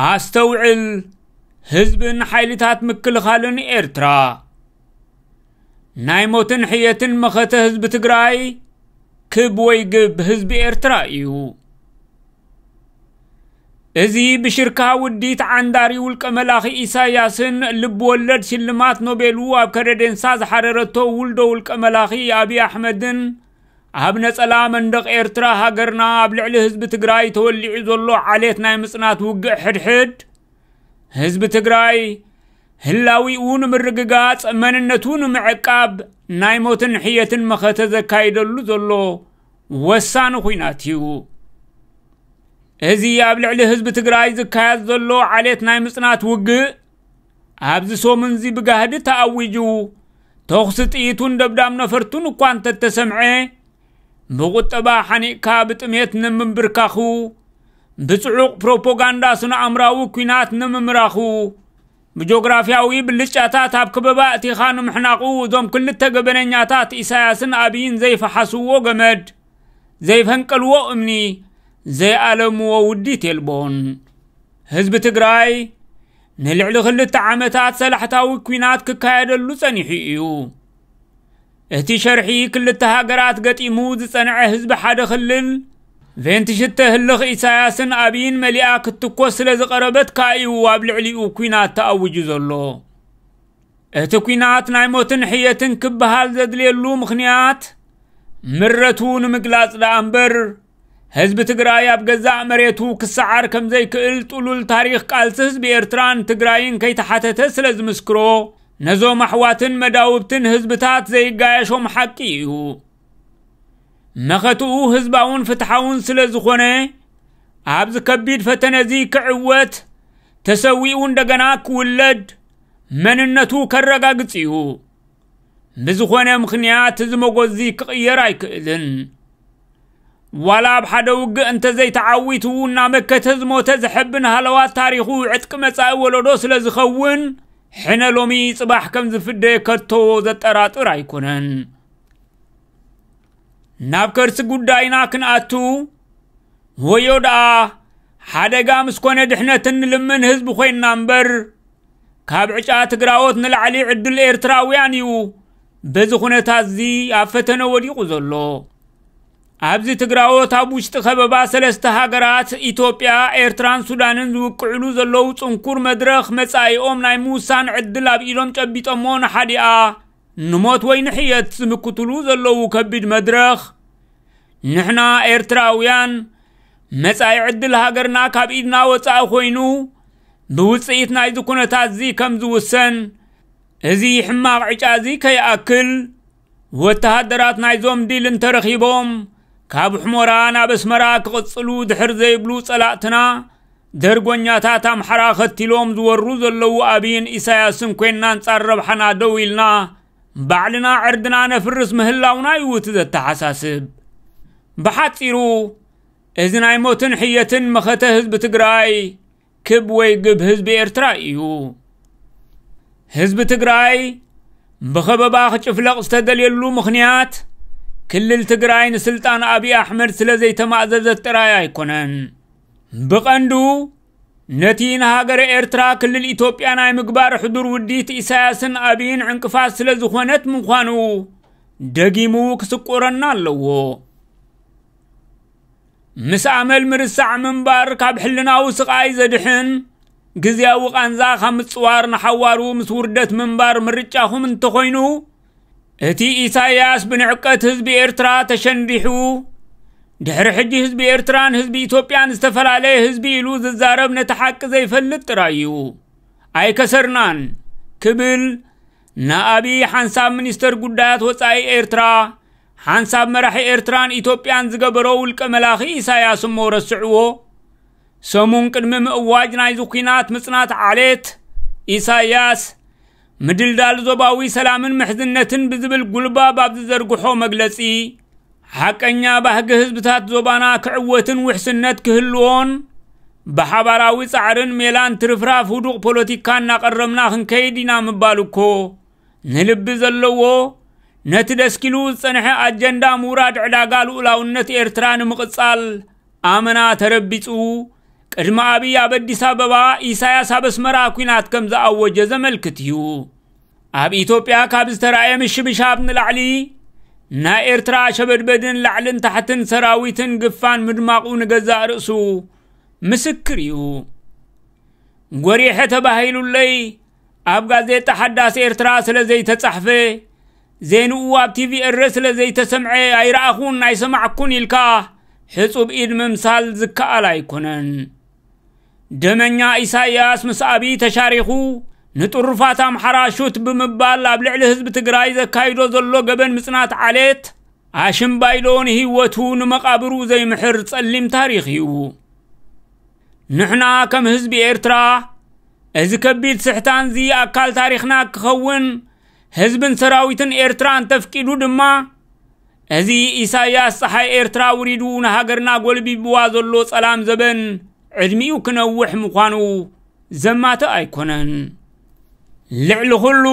ኣስተውዕል፣ ህዝብን ሓይልታት ምክልኻልን ኤርትራ። ናይ ሞትን ሕየትን መኸተ ህዝቢ ትግራይ ክብ ወይ ግብ ህዝቢ ኤርትራ እዩ። እዚ ብሽርካ ውዲት ዓንዳሪ ውልቀ መላኺ ኢሳያስን ልብ ወለድ ሽልማት ኖቤሉ ኣብ ከረዴንሳ ዝሓረረቶ ውልዶ ውልቀ መላኺ ኣብይ ኣሕመድን ኣብ ነጸላ መንደቕ ኤርትራ ሃገርና ኣብ ልዕሊ ህዝቢ ትግራይ ተወሊዑ ዘሎ ዓሌት ናይ ምጽናት ውግእ ሕድሕድ ህዝቢ ትግራይ ህላዊኡ ንምርግጋጽ መንነቱ ንምዕቃብ ናይ ሞትን ሕየትን መኸተ ዘካይደሉ ዘሎ ወሳኒ ኹናት እዩ። እዚ ኣብ ልዕሊ ህዝቢ ትግራይ ዝካየድ ዘሎ ዓሌት ናይ ምጽናት ውግእ ኣብዚ ሰሙንዚ ብጋህዲ ተኣዊጁ፣ ተኹሲ ጥይቱን ደብዳብ ነፈርቱን እኳ እንተተሰምዐ፣ ብቁጠባ ሓኒቕካ ብጥሜት ንምንብርካኹ፣ ብጽዑቕ ፕሮፓጋንዳ ስነ ኣእምራዊ ኲናት ንምምራኹ፣ ብጆግራፍያዊ ብልጫታት ኣብ ከበባ ኣእቲኻ ንምሕናቑ፣ እዞም ክልተ ገበነኛታት ኢሳያስን ኣብይን ዘይፈሓስዎ ገመድ፣ ዘይፈንቀልዎ እምኒ፣ ዘይኣለምዎ ውዲት የልቦን። ህዝቢ ትግራይ ንልዕሊ ክልተ ዓመታት ሰላሕታዊ ኲናት ክካየደሉ ጸኒሑ እዩ። እቲ ሸርሒ ክልተ ሃገራት ገጢሙ ዝጸንዐ ህዝቢ ሓደ ክልል፣ ቬንትሽተ ህልኽ ኢሳያስን ኣብይን መሊኣ ክትትኮስ ስለ ዝቐረበት ከኣ እዩ ኣብ ልዕሊኡ ኲናት ተኣዊጁ ዘሎ። እቲ ኲናት ናይ ሞትን ሕየትን ክበሃል ዘድልየሉ ምኽንያት፣ ምረቱ ንምግላጽ ደኣ እምበር፣ ህዝቢ ትግራይ ኣብ ገዛእ መሬቱ ክሰዓር ከም ዘይክእል ጥሉል ታሪኽ ቃልሲ ህዝቢ ኤርትራን ትግራይን ከይተሓተተ ስለ ዝምስክሮ፣ ነዞም ኣሕዋትን መዳውብትን ህዝብታት ዘይጋየሾም ሓቂ እዩ። መኸትኡ ህዝባውን ፍትሓውን ስለ ዝኾነ፣ ኣብዚ ከቢድ ፈተነዚ ክዕወት፣ ተሰዊኡ እንደገና ክውለድ፣ መንነቱ ከረጋግጽ እዩ። ብዝኾነ ምኽንያት እዚ መጎዚ ክቕየር ኣይክእልን። ዋላ ኣብ ሓደ ውግእ እንተዘይተዓዊቱ፣ እናመከተ ዝሞተ ዘሐብን ሃለዋት ታሪኹ ዕጥቂ መጻኢ ወለዶ ስለ ዝኸውን፣ ሕነ ሎሚ ጽባሕ ከም ዝፍደ ከቶ ዘጠራጥር ኣይኮነን። ናብ ከርሲ ጉዳይና ክንኣቱ፣ ወዮ ደኣ ሓደጋ ምስ ኮነ ድሕነት እንልምን ህዝቢ ኮይንና እምበር፣ ካብ ዕጫ ትግራዎት ንላዕሊ ዕድል ኤርትራውያን እዩ በዚ ኩነታት እዚ ኣብ ፈተነ ወዲቑ ዘሎ። ኣብዚ ትግራዎት ኣብ ውሽጢ ከበባ ሰለስተ ሃገራት ኢትዮጵያ፣ ኤርትራን ሱዳንን ዝውቅዕሉ ዘለዉ ጽንኩር መድረኽ መጻኢኦም ናይ ምውሳን ዕድል ኣብ ኢዶም ጨቢጦሞ ንሓዲኣ ንሞት ወይ ንሕየት ዝምክትሉ ዘለዉ ከቢድ መድረኽ፣ ንሕና ኤርትራውያን መጻኢ ዕድል ሃገርና ካብ ኢድና ወጻኢ ኮይኑ ብውጽኢት ናይዚ ኩነታት እዚ ከም ዝውሰን፣ እዚ ሕማቕ ዕጫ እዚ ከይኣክል፣ ወተሃደራት ናይዞም ዲል እንተረኺቦም፣ ካብ ሑሞራ ናብ ኣስመራ ክቕጽሉ ድሕር ዘይብሉ ጸላእትና፣ ደርጎኛታት ኣምሓራ ኸቲሎም ዝወሩ ዘለዉ ኣብይን ኢሳያስን ኮይንና ኣንጻር ረብሓና ደው ኢልና፣ ባዕልና ዕርድና ነፍርስ ምህላውና እዩ እቲ ዘተሓሳስብ። ብሓጺሩ፣ እዚ ናይ ሞትን ሕየትን መኸተ ህዝቢ ትግራይ ክብ ወይ ግብ ህዝቢ ኤርትራ እዩ። ህዝቢ ትግራይ ብኸበባ ክጭፍለቕ ዝተደልየሉ ምኽንያት፣ ክልል ትግራይ ንስልጣን ኣብይ ኣሕመድ ስለ ዘይተማእዘዘት ጥራይ ኣይኮነን። ብቐንዱ፣ ነቲ ንሃገረ ኤርትራ ክልል ኢትዮጵያ ናይ ምግባር ሕዱር ውዲት ኢሳያስን ኣብይን ዕንቅፋት ስለ ዝኾነት ምዃኑ ደጊሙ ክስቆረና ኣለዎ። ምስ ኣመል ምርሳዕ ምንባር ካብ ሕልናዊ ስቓይ ዘድሕን፣ ግዝያዊ ቃንዛ ካብ ምጽዋር ንሓዋሩ ምስ ውርደት ምንባር ምርጫኹም እንተኾይኑ፣ እቲ ኢሳያስ ብንዕቀት ህዝቢ ኤርትራ ተሸንዲሑ፣ ድሕሪ ሕጂ ህዝቢ ኤርትራን ህዝቢ ኢትዮጵያን ዝተፈላለየ ህዝቢ ኢሉ ዝዛረብ ነቲ ሓቂ ዘይፈልጥ ጥራይ እዩ። ኣይከሰርናን ክብል ንኣብይ ሓንሳብ ሚኒስተር ጉዳያት ወጻኢ ኤርትራ፣ ሓንሳብ መራሒ ኤርትራን ኢትዮጵያን ዝገበሮ ውልቀ መላኺ ኢሳያስ እሞ ረስዕዎ። ሰሙን ቅድሚ ምእዋጅ ናይዚ ኲናት ምጽናት ዓሌት፣ ኢሳያስ፣ ምድልዳል ዞባዊ ሰላምን ምሕዝነትን ብዝብል ጉልባብ ኣብ ዝዘርግሖ መግለጺ፣ ሓቀኛ ባህጊ ህዝብታት ዞባና ክዕወትን ውሕስነት ክህልዎን፣ ብሓባራዊ ጻዕርን ሜላን ትርፍራፍ ህዱቕ ፖለቲካ እናቐረብና ክንከይድ ኢና ምባል እኮ፣ ንልቢ ዘለዎ፣ ነቲ ደስኪሉ ዝጸንሐ ኣጀንዳ ምውራድ ዕዳጋ ልኡላውነት ኤርትራ ንምቕጻል ኣመና ተረቢጹ፣ ዕድመ ኣብይ ኣብ ኣዲስ ኣበባ፣ ኢሳያስ ኣብ ኣስመራ ኲናት ከም ዝኣወጀ ዘመልክት እዩ። ኣብ ኢትዮጵያ ካብ ዝተራእየ ምሽብሻብ ንላዕሊ፣ ናይ ኤርትራ ሸበድበድን ላዕልን ታሕትን ሰራዊትን ግፋን ምድማቑ ንገዛእ ርእሱ ምስክር እዩ። ጎሪሐ ተባሂሉለይ ኣብ ጋዜጣ ሓዳስ ኤርትራ ስለ ዘይተጻሕፈ፣ ዜንኡ ኣብ ቲቪ ኤረ ስለ ዘይተሰምዐ ኣይረኣኹን ኣይሰማዕኩን ኢልካ ሕጹብ ኢድ ምምሳል ዝከኣል ኣይኮነን። ደመኛ ኢሳያስ ምስ ኣብይ ተሻሪኹ ንጥሩፋት ኣምሓራ ሹት ብምባል ኣብ ልዕሊ ህዝቢ ትግራይ ዘካይዶ ዘሎ ገበን ምጽናት ዓሌት ኣሽምባይዶ ንህይወቱ ንመቓብሩ ዘይምሕር ጸሊም ታሪኽ እዩ። ንሕና ከም ህዝቢ ኤርትራ፣ እዚ ከቢድ ስሕታንዚ ኣካል ታሪኽና ክኸውን፣ ህዝብን ሰራዊትን ኤርትራ እንተፍቂዱ ድማ፣ እዚ ኢሳያስ ጸሓይ ኤርትራ ውሪዱ ንሃገርና ጎልቢብዋ ዘሎ ጸላም ዘበን ዕድሚኡ ክነውሕ ምዃኑ ዘማትእ ኣይኮነን። ልዕሊ ኩሉ፣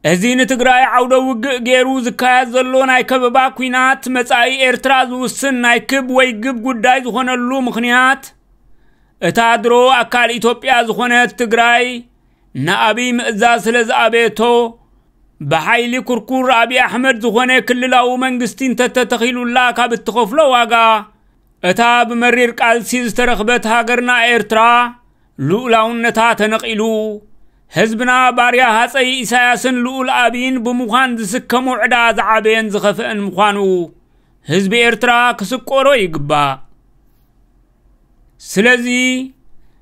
እዚ ንትግራይ ዓውደ ውግእ ገይሩ ዝካየድ ዘሎ ናይ ከበባ ኲናት፣ መጻኢ ኤርትራ ዝውስን ናይ ክብ ወይ ግብ ጉዳይ ዝኾነሉ ምኽንያት፣ እታ ድሮ ኣካል ኢትዮጵያ ዝኾነት ትግራይ ንኣብይ ምእዛዝ ስለ ዝኣበየቶ፣ ብሓይሊ ኩርኩር ኣብይ ኣሕመድ ዝኾነ ክልላዊ መንግስቲ እንተተተኺሉላ ካብ እትኸፍሎ ዋጋ፣ እታ ብመሪር ቃልሲ ዝተረኽበት ሃገርና ኤርትራ፣ ልኡላውነታ ተነቒሉ፣ ህዝብና ባርያ ሃጸይ ኢሳያስን ልኡል ኣብይን ብምዃን ዝስከሞ ዕዳ ዝዓበየን ዝኸፍአን ምዃኑ ህዝቢ ኤርትራ ክስቆሮ ይግባእ። ስለዚ፣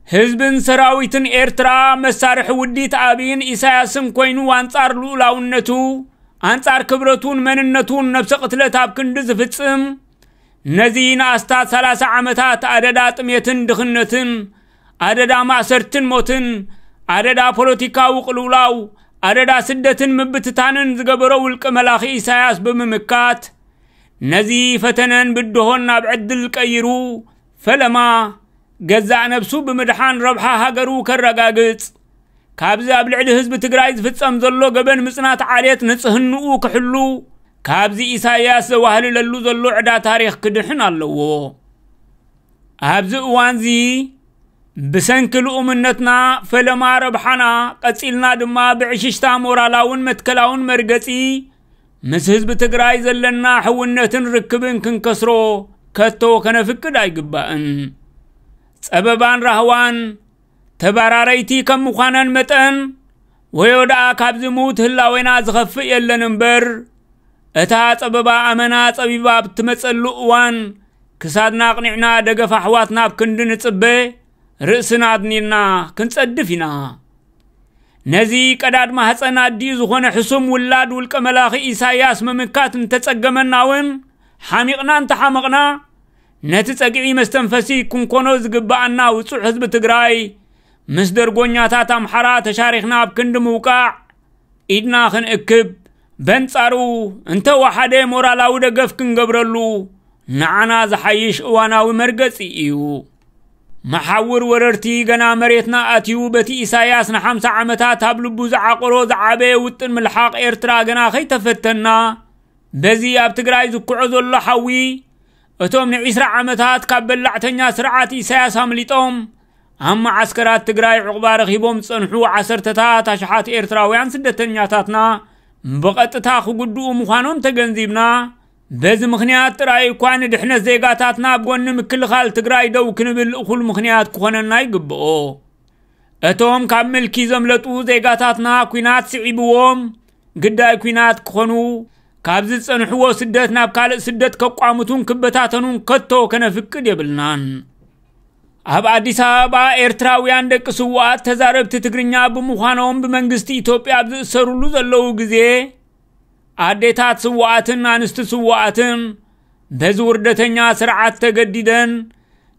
ህዝብን ሰራዊትን ኤርትራ መሳርሒ ውዲት ኣብይን ኢሳያስን ኮይኑ፣ ኣንጻር ልኡላውነቱ፣ ኣንጻር ክብረቱን መንነቱን ነብሰ ቅትለት ኣብ ክንዲ ዝፍጽም፣ ነዚ ንኣስታት ሰላሳ ዓመታት ኣደዳ ጥሜትን ድኽነትን፣ ኣደዳ ማእሰርትን ሞትን፣ ኣደዳ ፖለቲካዊ ቅልውላው፣ ኣደዳ ስደትን ምብትታንን ዝገበሮ ውልቀ መላኺ ኢሳያስ ብምምካት፣ ነዚ ፈተነን ብድሆን ናብ ዕድል ቀይሩ፣ ፈለማ ገዛእ ነብሱ ብምድሓን ረብሓ ሃገሩ ከረጋግጽ፣ ካብዚ ኣብ ልዕሊ ህዝቢ ትግራይ ዝፍጸም ዘሎ ገበን ምጽናት ዓሌት ንጽህንኡ ክሕሉ፣ ካብዚ ኢሳያስ ዘዋህልለሉ ዘሎ ዕዳ ታሪኽ ክድሕን ኣለዎ። ኣብዚ እዋንዚ ብሰንኪ ልኡምነትና፣ ፈለማ ረብሓና፣ ቀጺልና ድማ ብዕሽሽታ ሞራላውን መትከላውን መርገጺ ምስ ህዝቢ ትግራይ ዘለና ሕውነትን ርክብን ክንከስሮ ከቶ ከነፍቅድ ኣይግባእን። ጸበባን ራህዋን ተባራረይቲ ከም ምዃነን መጠን፣ ወዮ ደኣ ካብዚ ምዉት ህላዌና ዝኸፍእ የለን እምበር፣ እታ ጸበባ ኣመና ጸቢባ ኣብ ትመጸሉ እዋን፣ ክሳድና ኣቕኒዕና ደገፍ ኣሕዋትና ኣብ ክንዲ ንጽበ፣ ርእስና ኣድኒርና ክንጸድፍ ኢና። ነዚ ቀዳድ ማህጸን ኣዲኡ ዝኾነ ሕሱም ውላድ ውልቀ መላኺ ኢሳያስ ምምካት እንተጸገመና እውን፣ ሓሚቕና እንተሓመቕና፣ ነቲ ጸግዒ መስተንፈሲ ክንኮኖ ዝግብኣና ውጹዕ ህዝቢ ትግራይ፣ ምስ ደርጎኛታት ኣምሓራ ተሻሪኽና ኣብ ክንዲ ምውቃዕ፣ ኢድና ክንእክብ፣ በንጻሩ እንተወሓደ ሞራላዊ ደገፍ ክንገብረሉ፣ ንዓና ዝሓይሽ እዋናዊ መርገጺ እዩ። መሓውር ወረርቲ ገና መሬትና ኣትዩ፣ በቲ ኢሳያስ ንሓምሳ ዓመታት ኣብ ልቡ ዝዓቆሮ ዝዓበየ ውጥን ምልሓቕ ኤርትራ ገና ከይተፈተና፣ በዚ ኣብ ትግራይ ዝኩዖ ዘሎ ሓዊ፣ እቶም ንዒስራ ዓመታት ካብ በላዕተኛ ስርዓት ኢሳያስ ኣምሊጦም ኣብ መዓስከራት ትግራይ ዕቑባ ረኺቦም ዝጸንሑ ዓሰርተታት ኣሽሓት ኤርትራውያን ስደተኛታትና ብቐጥታ ክጉድኡ ምዃኖም ተገንዚብና፣ በዚ ምኽንያት ጥራይ እኳ ንድሕነት ዜጋታትና ኣብ ጎኒ ምክልኻል ትግራይ ደው ክንብል እኹል ምኽንያት ክኾነና ይግብኦ። እቶም ካብ ምልኪ ዘምለጡ ዜጋታትና ኲናት ስዒብዎም ግዳይ ኲናት ክኾኑ፣ ካብ ዝጸንሕዎ ስደት ናብ ካልእ ስደት ከቋምቱን ክበታተኑን ከቶ ከነፍቅድ የብልናን። ኣብ ኣዲስ ኣበባ ኤርትራውያን ደቂ ስውኣት ተዛረብቲ ትግርኛ ብምዃኖም ብመንግስቲ ኢትዮጵያ ኣብ ዝእሰሩሉ ዘለዉ ግዜ፣ ኣዴታት ስውኣትን ኣንስቲ ስውኣትን በዚ ውርደተኛ ስርዓት ተገዲደን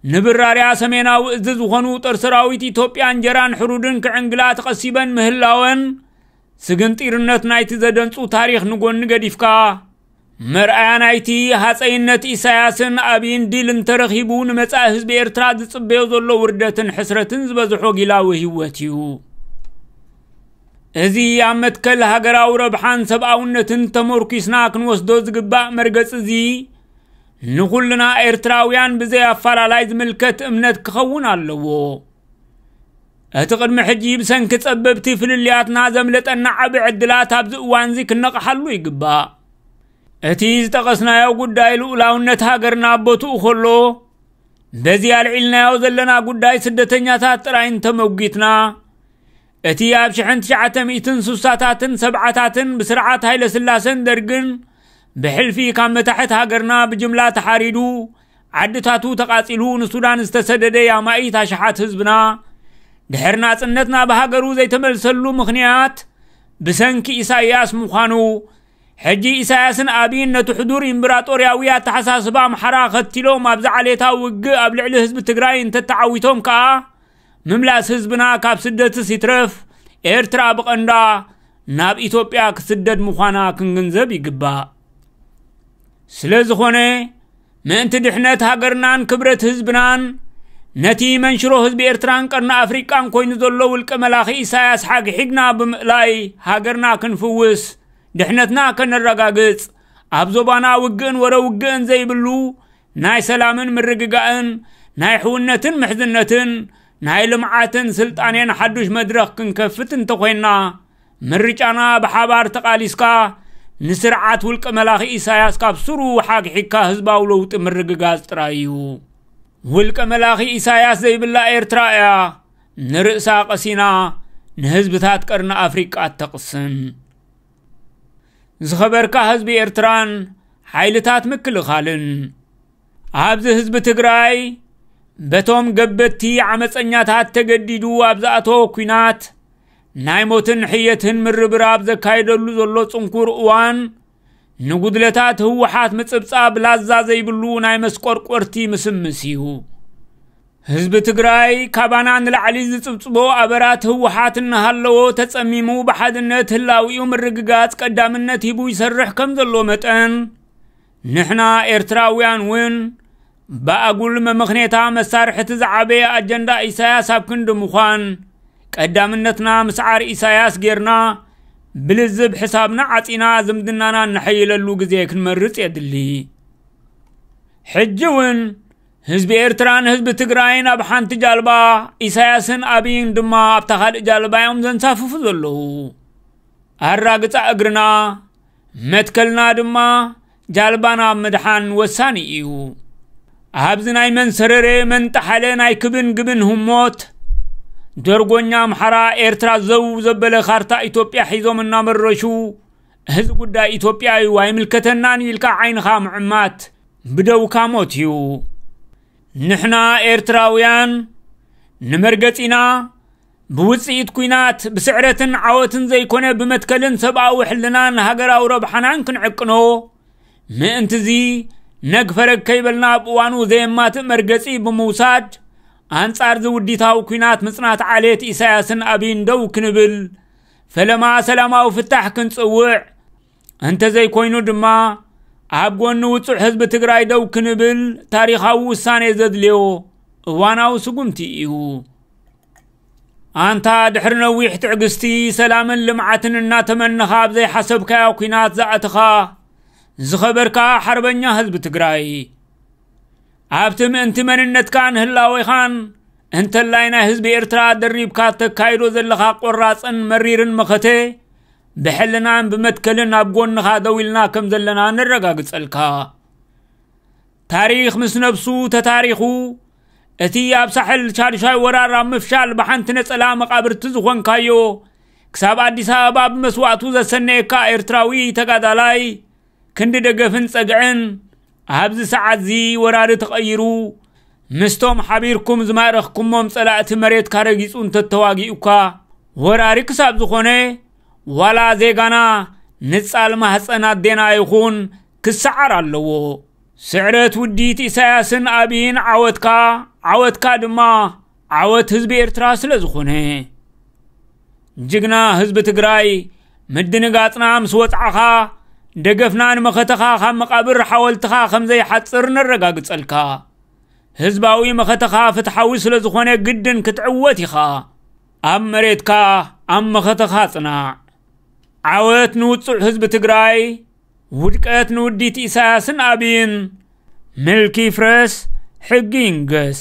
ንብራርያ ሰሜናዊ እዝ ዝኾኑ ጦር ሰራዊት ኢትዮጵያ እንጀራን ሕሩድን ክዕንግላ ተቐሲበን ምህላወን፣ ስግንጢርነት ናይቲ ዘደንጹ ታሪኽ ንጎኒ ገዲፍካ፣ መርኣያ ናይቲ ሃጸይነት ኢሳያስን ኣብይን ዲል እንተረኺቡ፣ ንመጻኢ ህዝቢ ኤርትራ ዝጽበዮ ዘሎ ውርደትን ሕስረትን ዝበዝሖ ጊላዊ ህይወት እዩ። እዚ ኣብ መትከል ሃገራዊ ረብሓን ሰብኣውነትን ተመርኲስና ክንወስዶ ዝግባእ መርገጽ እዚ፣ ንኹልና ኤርትራውያን ብዘይ ኣፈላላይ ዝምልከት እምነት ክኸውን ኣለዎ። እቲ ቅድሚ ሕጂ ብሰንኪ ጸበብቲ ፍልልያትና ዘምለጠና ዓቢ ዕድላት ኣብዚ እዋንዚ ክነቕሓሉ ይግባእ። እቲ ዝጠቐስናዮ ጉዳይ ልኡላውነት ሃገርና ኣብ ቦትኡ ከሎ፣ በዚ ኣልዒልናዮ ዘለና ጉዳይ ስደተኛታት ጥራይ እንተመጒትና፣ እቲ ኣብ ሽሕን ትሽዓተ ሚእትን ስሳታትን ሰብዓታትን ብስርዓት ሃይለ ስላሰን ደርግን ብሕልፊ ካብ መታሕት ሃገርና ብጅምላ ተሓሪዱ፣ ዓድታቱ ተቓጺሉ ንሱዳን ዝተሰደደ ኣማኢት ኣሽሓት ህዝብና፣ ድሕሪ ናጽነትና ብሃገሩ ዘይተመልሰሉ ምኽንያት ብሰንኪ ኢሳይያስ ምዃኑ፣ ሕጂ ኢሳያስን ኣብይን ነቲ ሕዱር ኢምብራጦርያዊ ኣተሓሳስባ ኣምሓራ ኸቲሎም ኣብዚ ዓሌታዊ ውግእ ኣብ ልዕሊ ህዝቢ ትግራይ እንተተዓዊቶም ከኣ፣ ምምላስ ህዝብና ካብ ስደትስ ይትረፍ፣ ኤርትራ ብቐንዳ ናብ ኢትዮጵያ ክስደድ ምዃና ክንግንዘብ ይግባእ። ስለ ዝኾነ፣ ምእንቲ ድሕነት ሃገርናን ክብረት ህዝብናን፣ ነቲ መንሽሮ ህዝቢ ኤርትራን ቀርኒ ኣፍሪቃን ኮይኑ ዘሎ ውልቀ መላኺ ኢሳያስ ሓግሒግና ብምእላይ ሃገርና ክንፍውስ፣ ድሕነትና ከነረጋግጽ፣ ኣብ ዞባና ውግእን ወረ ውግእን ዘይብሉ ናይ ሰላምን ምርግጋእን፣ ናይ ሕውነትን ምሕዝነትን፣ ናይ ልምዓትን ስልጣኔን ሓዱሽ መድረኽ ክንከፍት እንተኾይንና፣ ምርጫና ብሓባር ተቓሊስካ ንስርዓት ውልቀ መላኺ ኢሳያስ ካብ ስሩ ሓግሒግካ ህዝባዊ ለውጢ ምርግጋጽ ጥራይ እዩ። ውልቀ መላኺ ኢሳያስ ዘይብላ ኤርትራ እያ ንርእሳ ቀሲና ንህዝብታት ቀርኒ ኣፍሪቃ እተቕስን። ዝኸበርካ ህዝቢ ኤርትራን ሓይልታት ምክልኻልን፣ ኣብዚ ህዝቢ ትግራይ በቶም ገበቲ ዓመፀኛታት ተገዲዱ ኣብ ዝኣተወ ኲናት ናይ ሞትን ሕየትን ምርብራብ ዘካየደሉ ዘሎ ጽንኩር እዋን፣ ንጉድለታት ህወሓት ምጽብጻብ ላዛ ዘይብሉ ናይ መስቆርቆርቲ ምስምስ እዩ። ህዝቢ ትግራይ ካባና ንላዕሊ ዝጽብጽቦ ኣበራት ህወሓት እናሃለዎ፣ ተጸሚሙ ብሓድነት ህላዊኡ ምርግጋጽ ቀዳምነት ሂቡ ይሰርሕ ከም ዘሎ መጠን፣ ንሕና ኤርትራውያን እውን ብኣጉል መመኽኔታ መሳርሕቲ ዝዓበየ ኣጀንዳ ኢሳያስ ኣብ ክንዲ ምዃን፣ ቀዳምነትና ምስዓር ኢሳያስ ጌርና፣ ብልዝብ ሕሳብና ዓጺና ዝምድናና እነሐይለሉ ግዜ ክንመርጽ የድሊ። ሕጂ እውን ህዝቢ ኤርትራን ህዝቢ ትግራይን ኣብ ሓንቲ ጃልባ፣ ኢሳያስን ኣብይን ድማ ኣብታ ካልእ ጃልባ እዮም ዘንሳፍፉ ዘለዉ። ኣራግጻ እግርና፣ መትከልና ድማ ጃልባና ምድሓን ወሳኒ እዩ። ኣብዚ ናይ መን ሰረረ መን ጠሓለ ናይ ክብን ግብን ህሞት፣ ደርጎኛ ኣምሓራ ኤርትራ ዘው ዘበለ ካርታ ኢትዮጵያ ሒዞም እናመረሹ፣ እዚ ጉዳይ ኢትዮጵያ እዩ ኣይምልከተናን እዩ ኢልካ ዓይንኻ ምዕማት ብደውካ ሞት እዩ። ንሕና ኤርትራውያን ንመርገጺና ብውጽኢት ኲናት፣ ብስዕረትን ዓወትን ዘይኮነ ብመትከልን ሰብኣዊ ሕልናን ሃገራዊ ረብሓናን ክንዕቅኖ፣ ምእንትዚ ነግ ፈረግ ከይበልና ኣብ እዋኑ ዘየማትእ መርገጺ ብምውሳድ፣ ኣንጻር ዝውዲታዊ ኲናት ምጽናት ዓሌት ኢሳያስን ኣብይን ደው ክንብል፣ ፈለማ ሰላማዊ ፍታሕ ክንጽውዕ፣ እንተዘይኮይኑ ድማ ኣብ ጎኒ ውጹዕ ህዝቢ ትግራይ ደው ክንብል ታሪኻዊ ውሳኔ ዘድልዮ እዋናዊ ስጉምቲ እዩ። ኣንታ ድሕሪ ነዊሕ ትዕግስቲ፣ ሰላምን ልምዓትን እናተመነኻ ኣብ ዘይሓሰብካዮ ኲናት ዝኣተኻ ዝኸበርካ ሓርበኛ ህዝቢ ትግራይ፣ ኣብቲ ምእንቲ መንነትካን ህላዌኻን እንተላይ ናይ ህዝቢ ኤርትራ ደሪብካ ተካይዶ ዘለኻ ቆራጽን መሪርን መኸተ፣ ብሕልናን ብመትከልን ኣብ ጎንኻ ደው ኢልና ከም ዘለና ነረጋግጸልካ። ታሪኽ ምስ ነብሱ ተታሪኹ፣ እቲ ኣብ ሳሕል ሻድሻይ ወራር ኣብ ምፍሻል ብሓንቲ ነጸላ መቓብርቲ ዝኾንካዮ፣ ክሳብ ኣዲስ ኣበባ ብመስዋእቱ ዘሰነየካ ኤርትራዊ ተጋዳላይ፣ ክንዲ ደገፍን ጸግዕን ኣብዚ ሰዓትዚ ወራሪ ተቐይሩ፣ ምስቶም ሓቢርኩም ዝማረኽኩሞም ጸላእቲ መሬትካ ረጊጹ እንተተዋጊኡካ፣ ወራሪ ክሳብ ዝኾነ፣ ዋላ ዜጋና ንጻል ማህጸን ኣዴና ይኹን ክሰዓር ኣለዎ። ስዕረት ውዲት ኢሳያስን ኣብይን ዓወትካ፣ ዓወትካ ድማ ዓወት ህዝቢ ኤርትራ ስለ ዝኾነ። ጅግና ህዝቢ ትግራይ፣ ምድንጋጽና ምስ ወጽዓኻ፣ ደገፍና ንመኸተኻ ካብ መቓብር ሓወልትኻ ከም ዘይሓጽር ነረጋግጸልካ። ህዝባዊ መኸተኻ ፍትሓዊ ስለ ዝኾነ ግድን ክትዕወት ኢኻ። ኣብ መሬትካ፣ ኣብ መኸተኻ ጽናዕ። ዓወት ንውጹዕ ህዝቢ ትግራይ፣ ውድቀት ንውዲት ኢሳያስን ኣብይን። ምልኪ ይፍረስ፣ ሕጊ ይንገስ።